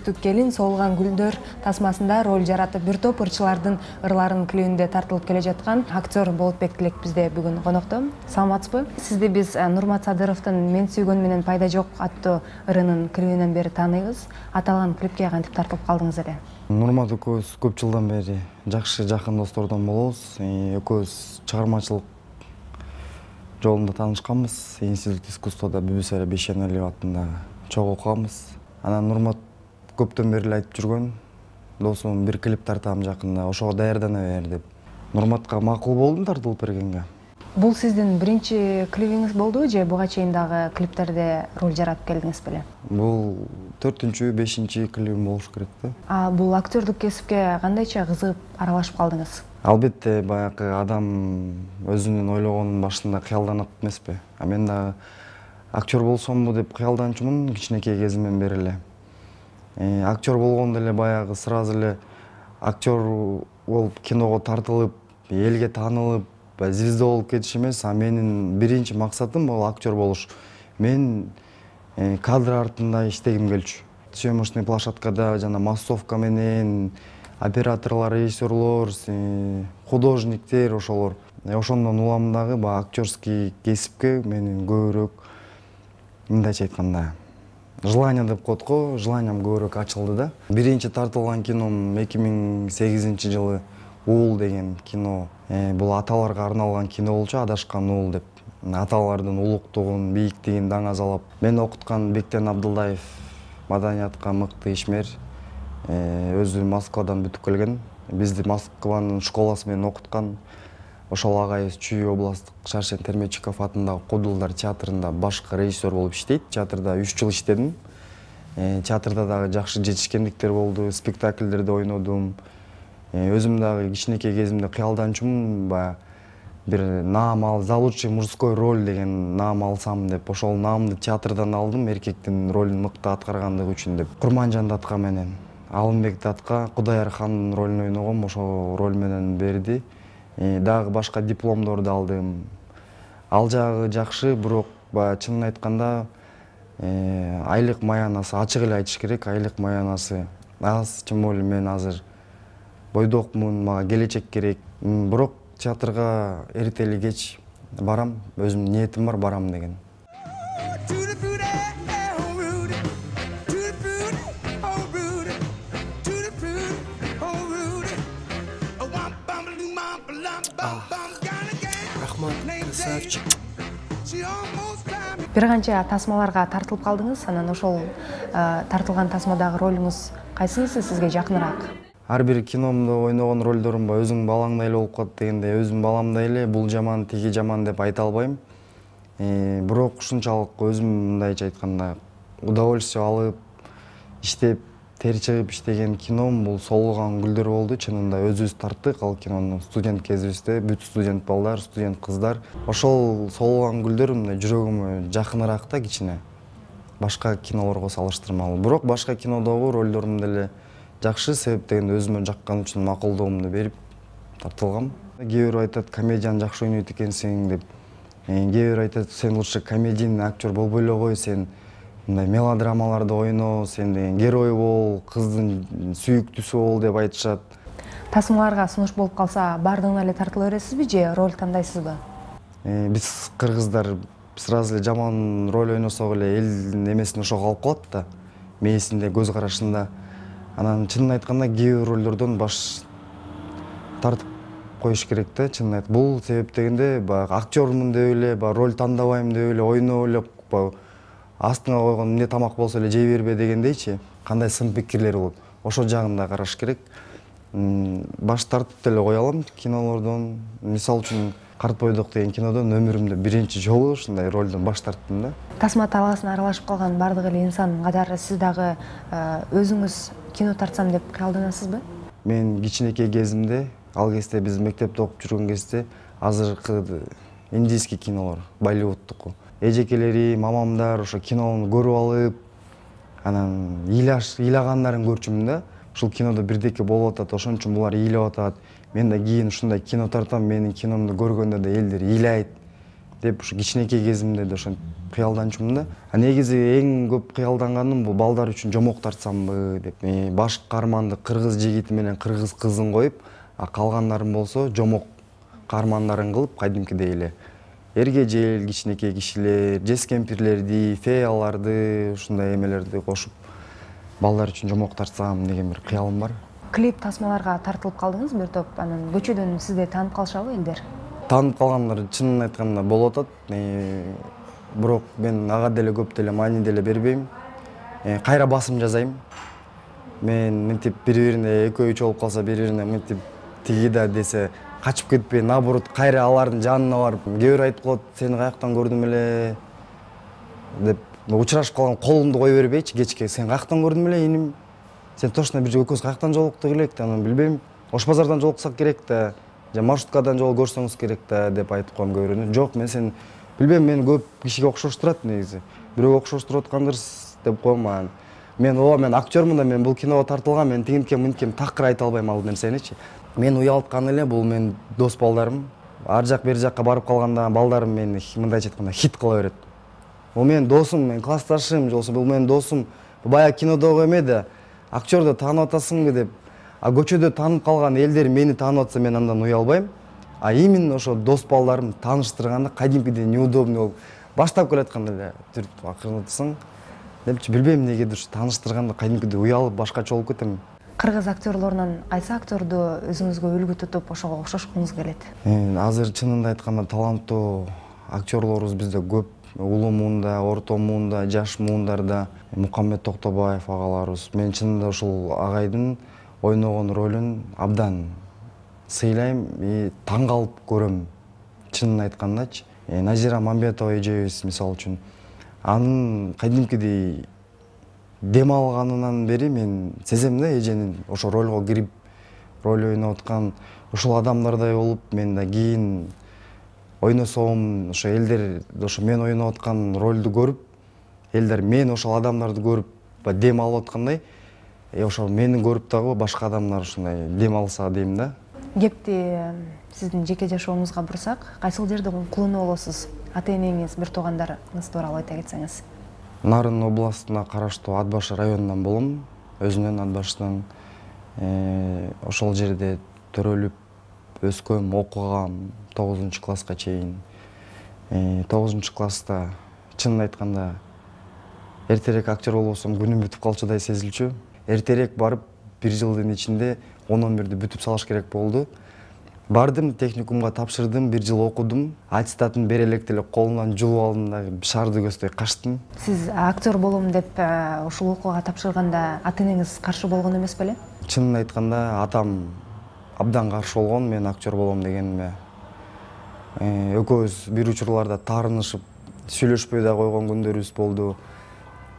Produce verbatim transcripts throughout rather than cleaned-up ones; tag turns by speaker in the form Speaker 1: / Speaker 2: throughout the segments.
Speaker 1: Түштүк келин Соолган гүлдөр тасмасында роль жаратып, бир топ ырчылардын ырларын клибинде тартылып келе жаткан актер Болотбек Тилек бизде бүгүн конокто. Саламатсызбы? Сизди биз Нурмат Садыровдун Мен сүйгөн менен пайда жок аттуу ырынын клибинен бери тааныйбыз. Аталган клипке кантип тартылып калдыңыз эле?
Speaker 2: Нурмат экөөбүз көп жылдан бери жакшы жакын достордон болобуз. Экөөбүз чыгармачылык жолунда таанышканбыз. Институт искусствода Бүбүсара Бейшеналиева атындагы чогуу окуганбыз. Анан Нурмат көптөн бери айтып жүргөн, досум бир клип тартам жакында, ошого даярдана бер деп. Нурматка макул болдум тартылып бергенге.
Speaker 1: Бул сиздин биринчи клибиңиз болдубу же буга чейин дагы клиптерде роль жаратып келдиңиз беле?
Speaker 2: Бул төртүнчү, бешинчи клибим болуш керек да.
Speaker 1: А бул актерлук кесипке кандайча кызыгып аралашып калдыңыз?
Speaker 2: Албетте, баягы адам өзүнүн ойлогонун башында кыялданат эмеспи? А мен дагы актер болсомбу деп кыялданчумун кичинекей кезимден бери эле. Актер болгондо эле баягы сразу эле актер болуп киного тартылып, элге таанылып, звезда болуп кетиш эмес, а менин биринчи максатым бул актер болуш. Мен кадр артында иштегим келчү. Съемочный площадкада жана массовка менен операторлор, режиссерлор, художниктер ошолор. Ошондон улам дагы баягы актерский кесипке менин көбүрөөк, мындайча айтканда, желание деп коет го, желанием көбүрөөк ачылды да. Биринчи тартылган кином эки миң сегизинчи жылы Уул деген кино. Бул аталарга арналган кино болчу, Адашкан уул деп. Аталардын улуктугун, бийиктигин даңазалап. Мен окуткан Бектен Абдылдаев маданиятка мыкты ишмер. Өзү Москвадан бүтүп келген. Бизди Москванын школасы менен окуткан. Ошол агайыбыз Чүй областтык Шаршен Термечиков атындагы Кудулдар театрында башкы режиссер болуп иштейт. Театрда үч жыл иштедим. Театрда дагы жакшы жетишкендиктер болду, спектакльдерде ойнодум. Өзүм дагы кичинекей кезимде кыялданчумун, баягы бир наам ал, за лучший мужской роль деген наам алсам деп, ошол наамды театрдан алдым, эркектин ролун мыкты аткаргандыгы үчүн деп. Курманжан Датка менен Алымбек Датка Кудаяр хандын ролун ойногом, ошол роль менен берди. Дагы башка дипломдорду алдым. Ал жагы жакшы, бирок баягы чынын айтканда айлык маянасы, ачык эле айтыш керек, айлык маянасы аз, тем более мен азыр бойдокмун, мага келечек керек. Бирок театрга эртели кеч барам, өзүмдүн ниетим бар, барам деген.
Speaker 3: Рахмат, красавчик.
Speaker 1: Бир канча тасмаларга тартылып калдыңыз, анан ошол тартылган тасмадагы ролуңуз кайсынысы сизге жакыныраак?
Speaker 2: Ар бир киномдо ойногон ролдорум ба өзүң балаңдай эле болуп калат дегенде, өзүм баламдай эле бул жаман, тиги жаман деп айта албайм. Бирок ушунчалык өзүм мындайча айтканда удовольствие алып, иштеп, тер чыгып иштеген кином бул Соолган гүлдөр болду. Чынында өзүбүз тарттык ал кинону студент кезибизде, бүт студент балдар, студент кыздар. Ошол Соолган гүлдөр мындай жүрөгүмө жакыныраак да кичине. Башка кинолорго салыштырмалуу. Бирок башка кинодогу ролдорум деле жакшы, себеп дегенде өзүмө жаккан үчүн макулдугумду берип тартылгам. Кээ бирөө айтат, комедияны жакшы ойнойт экенсиң деп. Кээ бирөө айтат, сен лучше комедийный актер болбой эле кой, сен мындай мелодрамаларды ойно, сен деген герой бол, кыздын сүйүктүүсү бол деп айтышат.
Speaker 1: Тасмаларга сунуш болуп калса, бардыгына эле тартыла бересизби же роль тандайсызбы?
Speaker 2: Биз кыргыздар сразу эле жаман роль ойносок эле элдин эмесине ошо калып калат да, мээсинде, көз карашында. Анан чынын айтканда кээ бир ролдордон баш тартып коюш керек да, чынын айт. Бул себеп дегенде баягы актермун деп эле, баягы роль тандабайм деп эле, ойноп эле, астыңа койгон эмне тамак болсо эле жей бербе дегендейчи, кандай сын пикирлер болот. Ошол жагын да караш керек. Баш тартып деле кое алам кинолордон. Мисалы үчүн Карт бойдок деген кинодон өмүрүмдө биринчи жолу ушундай ролдон баш тарттым да.
Speaker 1: Тасма талаасына аралашып калган бардык эле инсан катары сиз дагы өзүңүз кино тартсам деп кыялданасызбы?
Speaker 2: Мен кичинекей кезимде, ал кезде биз мектепте окуп жүргөн кезде азыркы индийский кинолор, Болливудтуку эжекелери, мамамдар ошо кинону көрүп алып, анан ыйлагандарын көрчүмүн да. Ушул кинодо бирдеке болуп атат, ошон үчүн булар ыйлап атат. Мен да кийин ушундай кино тартам, менин киномду көргөндө да элдер ыйлайт. деп ушу кичинекей кезимде да ошентип кыялданчумун да. А негизи эң көп кыялданганым бул балдар үчүн жомок тартсамбы деп. Баш каарманды кыргыз жигити менен кыргыз кызын коюп, а калгандарым болсо жомок каармандарын кылып, кадимкидей эле эргежел, кичинекей кишилер, жез кемпирлерди, феяларды, ушундай эмелерди кошуп балдар үчүн жомок тартсам деген бир кыялым бар.
Speaker 1: Клип тасмаларга тартылып калдыңыз бир топ, анан көчөдөн сизди таанып калышабы элдер?
Speaker 2: Таанып калгандар чынын айтканда болуп атат. Бирок мен ага деле көп деле маани деле бербейм. Кайра басым жасайм. Мен мынтип бири-бирине экөө үч болуп калса, бири-бирине мынтип тиги да десе качып кетпей, наоборот, кайра алардын жанына барып, кээ бир айтып коет, сени каяктан көрдүм эле деп учурашып калган колумду кое бербейчи, кечке сени каяктан көрдүм эле иним. Сен точно бир экөөбүз каяктан жолуктук элек да, анан билбейм. Ош базардан жолуксак керек да, же маршруткадан жол көрсөңүз керек да деп айтып коем кээ бирөөнө. Жок, мен сени билбейм, мен көп кишиге окшоштурат негизи. Бирөө окшоштуруп аткандырсыз деп коем анан. Мен ооба, мен актёрмун да, мен бул киного тартылгам, мен тигинткем, мынткем такыр айта албайм ал нерсеничи. Мен уялткан эле, бул мен дос балдарым. Ар жак бери жакка барып калганда балдарым мени мындайча айтканда хит кыла берет. Бул менин досум, мен классташым, жолсо бул менин досум. Бая кинодогу эме да, актёрду таанып атасыңбы деп. А көчөдө таанып калган элдер мени таанып атса, мен андан уялбайм. А именно ошо дос балдарым тааныштырганда кадимкидей неудобный болуп, баштап келатканда эле түрт акырынатсың депчи, билбейм негедир тааныштырганда кадимкидей уялып башкача болуп кетем.
Speaker 1: Кыргыз актёрлорунан кайсы актёрду өзүңүзгө үлгү тутуп ошого окшошкуңуз келет?
Speaker 2: Азыр чынында айтканда таланттуу актёрлорубуз бизде көп. Улуу муунда, орто муунда, жаш муундарда Мукаммед Токтобаев агаларыбыз. Мен чынында ушул агайдын ойногон ролун абдан сыйлайм и таң калып көрөм. Чынын айткандачы. Назира Мамбетова эжебиз мисалы үчүн анын кадимкидей дем алганынан бери мен сезем да эженин ошо ролго кирип роль ойноп аткан ушул адамдардай болуп, мен да кийин ойносом, ошо элдер ошо мен ойноп аткан ролду көрүп, элдер мен ошол адамдарды көрүп дем алып аткандай, ошо мени көрүп дагы башка адамдар ушундай дем алса дейм да.
Speaker 1: Кепти сиздин жеке жашооңузга бурсак, кайсыл жерде кулунуп болосуз? Ата-энеңиз, бир туугандарыңыз тууралуу айта кетсеңиз.
Speaker 2: Нарын областына караштуу Ат башы районунан болом, өзүнөн Ат башынан. Ошол жерде төрөлүп өскөм, окугам тогузунчу класска чейин. тогузунчу класста чынын айтканда эртерээк актер болбосом күнүм бүтүп калчудай сезилчү. Эртерээк барып бир жылдын ичинде он он бирди бүтүп салыш керек болду. Бардым, техникумга тапшырдым, бир жыл окудум. Аттестатын бере элек деле колумдан жулуп алдым да шарды көздөй качтым.
Speaker 1: Сиз актер болом деп ушул окууга тапшырганда ата-энеңиз каршы болгон эмес беле?
Speaker 2: Чынын айтканда атам абдан каршы болгон мен актер болом дегениме. Экөөбүз бир учурларда таарынышып, сүйлөшпөй да койгон күндөрүбүз болду.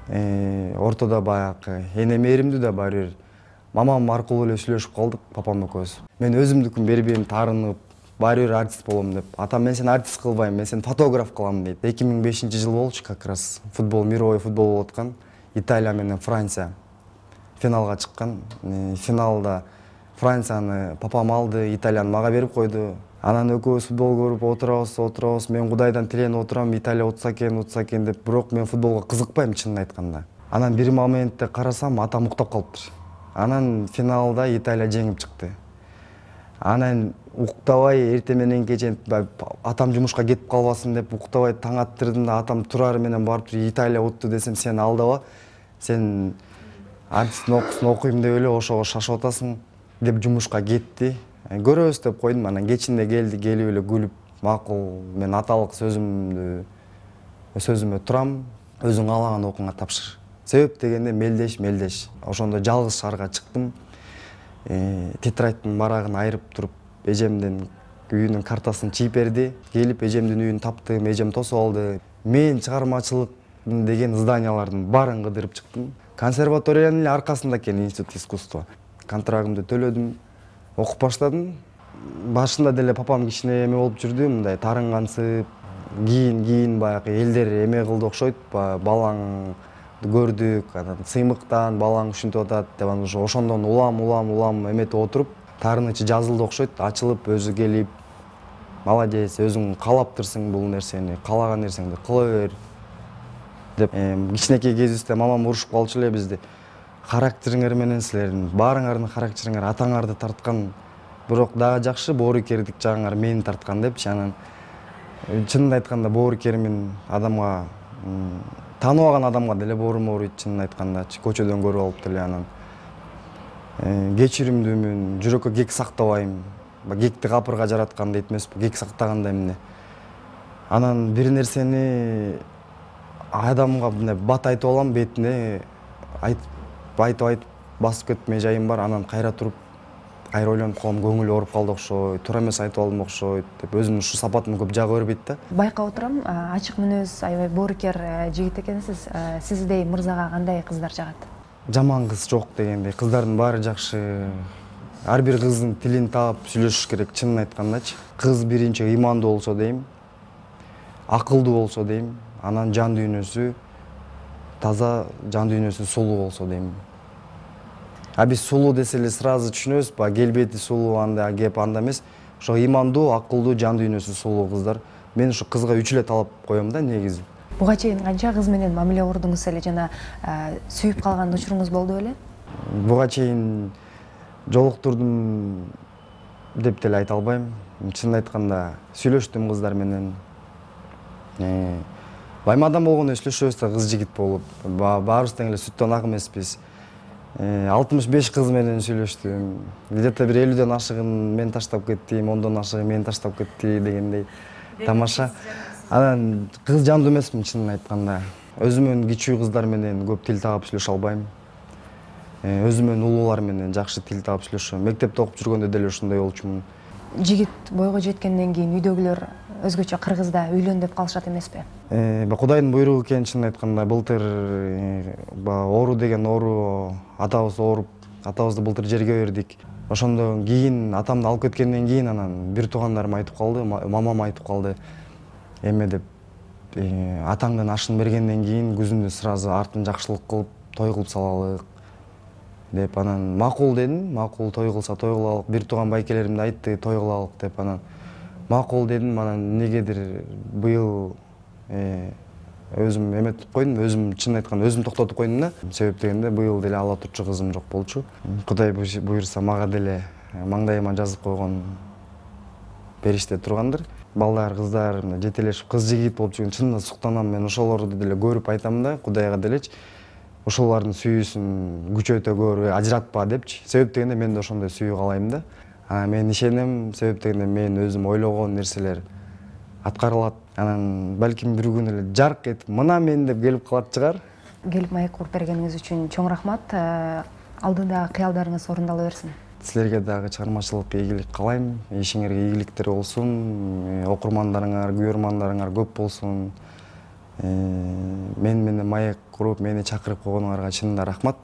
Speaker 2: Ортодо баягы энем эримдүү да баары бир мамам аркылуу эле сүйлөшүп калдык, папам экөөбүз. Мен өзүмдүкүн бербейм, таарынып, баары бир артист болом деп. Атам мен сени артист кылбайм, мен сени фотограф кылам дейт. эки миң бешинчи жыл болчу, как раз футбол, мировой футбол болуп аткан. Италия менен Франция финалга чыккан. Финалда Францияны папам алды, Италияны мага берип койду. Анан экөөбүз футбол көрүп отурабыз, отурабыз. Мен Кудайдан тиленип отурам, Италия утса экен, утса экен деп, бирок мен футболго кызыкпайм чынын айтканда. Анан бир моментте карасам, атам уктап калыптыр. Анан финалда Италия жеңип чыкты. Анан уктабай эртең менен кечен атам жумушка кетип калбасын деп уктабай таң аттырдым да, атам турары менен барып Италия утту десем, сен алдаба, сен артисттин окуусун окуйм деп эле ошого шашып атасың деп жумушка кетти. Көрөбүз деп койдум. Анан кечинде келди, келип эле күлүп, макул, мен аталык сөзүмдү сөзүмө турам, өзүң каалаган окууңа тапшыр. Себеп дегенде мелдеш, мелдеш. Ошондо жалгыз шаарга чыктым. Тетрадьтын барагын айырып туруп, эжемдин үйүнүн картасын чийип берди. Келип эжемдин үйүн таптым, эжем тосуп алды. Мен чыгармачылык деген зданиялардын баарын кыдырып чыктым. Консерваториянын эле аркасында экен институт искусства. Контрагымды төлөдүм, окуп баштадым. Башында деле папам кичине эме болуп жүрдү, мындай тарынгансып, кийин кийин баягы элдер эме кылды окшойт, балаң көрдүк, анан сыймыктан балаң ушинтип атат деп анан ошондон улам улам улам эметип отуруп, таарынычы жазылды окшойт, ачылып өзү келип молодец, өзүң каалаптырсың бул нерсени, каалаган нерсеңди кыла бер деп. Кичинекей кезибизде мамам урушуп калчу эле бизди. Характериңер менен силердин баарыңардын характериңер атаңарды тарткан, бирок дагы жакшы боорукердик жагыңар мени тарткан депчи. Анан чынын айтканда боорукермин, адамга тааныбаган адамга деле боорум ооруйт, чынын айтканда көчөдөн көрүп алып деле. Анан кечиримдүүмүн, жүрөккө кек сактабайм. Кекти капырга жараткан дейт эмеспи, кек сактагандай эмне. Анан бир нерсени адамга мындай бат айтып алам, бетине айтып айтып айтып басып кетмей жайым бар. Анан кайра туруп кайра ойлонуп калам, көңүл ооруп калды окшойт, туура эмес айтып алдым окшойт деп өзүмдүн ушул сапатым көп жага бербейт да.
Speaker 1: Байкап отурам, ачык мүнөз, аябай боорукер жигит экенсиз. Сиздей мырзага кандай кыздар жагат?
Speaker 2: Жаман кыз жок дегендей, кыздардын баары жакшы. Ар бир кыздын тилин таап сүйлөшүш керек, чынын айткандачы. Кыз биринчи ыймандуу болсо дейм, акылдуу болсо дейм, анан жан дүйнөсү таза, жан дүйнөсү сулуу болсо дейм. А биз сулуу десе эле сразу түшүнөбүз, ба келбети сулуу анда кеп анда эмес. Ошо ыймандуу, акылдуу, жан дүйнөсү сулуу кыздар. Мен ушу кызга үч эле талап коем да негизи.
Speaker 1: Буга чейин канча кыз менен мамиле курдуңуз эле жана сүйүп калган учуруңуз болду беле?
Speaker 2: Буга чейин жолуктурдум деп деле айта албайм. Чынын айтканда сүйлөштүм кыздар менен. Байма адам болгондо сүйлөшөбүз да, кыз жигит болуп. Баарыбыз тең эле сүттөн ак эмеспиз. алтымыш беш кыз менен сүйлөштүм. Где-то бир элүүдөн ашыгын мен таштап кетти, ондон ашыгы мени таштап кетти дегендей. Тамаша. Анан кыз жандуу эмесмин, чынын айтканда. Өзүмөн кичүү кыздар менен көп тил таап сүйлөшө албайм. Өзүмөн улуулар менен жакшы тил таап сүйлөшөм. Мектепте окуп жүргөндө деле ушундай болчумун.
Speaker 1: Жигит бойго жеткенден кийин үйдөгүлөр өзгөчө кыргызда үйлөн деп калышат эмеспи?
Speaker 2: Кудайдын буйругу экен, чынын айтканда. Былтыр оору деген оору, атабыз ооруп, атабызды былтыр жерге бердик. Ошондон кийин атамды алып кеткенден кийин анан бир туугандарым айтып калды, мамам айтып калды. Эме деп, атаңдын ашын бергенден кийин күзүндө сразу артын жакшылык кылып, той кылып салалык деп. Анан макул дедим, макул, той кылса той кылалык. Бир тууган байкелерим да айтты, той кылалык деп. Анан макул дедим. Анан эмнегедир быйыл өзүм эметип койдум, өзүм чынын айтканда өзүм токтотуп койдум да. Себеп дегенде быйыл деле ала турчу кызым жок болчу. Кудай буйрса мага деле маңдайыма жазып койгон бериште тургандыр. Балдар, кыздар жетелешип кыз жигит болуп жүргөн чынында суктанам. Мен ошолорду деле көрүп айтам да, Кудайга делечи. Ошолордун сүйүүсүн күчөтө көр, ажыратпа депчи. Себеп дегенде мен да ошондой сүйүү каалайм да. Мен ишенем, себеп дегенде мен өзүм ойлогон нерселер аткарылат. Анан балким бир күнү эле жарк этип, мына мен деп келип калат чыгар.
Speaker 1: Келип маек куруп бергениңиз үчүн чоң рахмат. Алдыдагы кыялдарыңыз орундала берсин. Силерге
Speaker 2: дагы чыгармачылыкка ийгилик каалайм. Ишиңерге ийгиликтер болсун. Окурмандарыңар, көрөрмандарыңар көп болсун. Мен менен маек куруп, мени чакырып койгонуңарга чынында рахмат.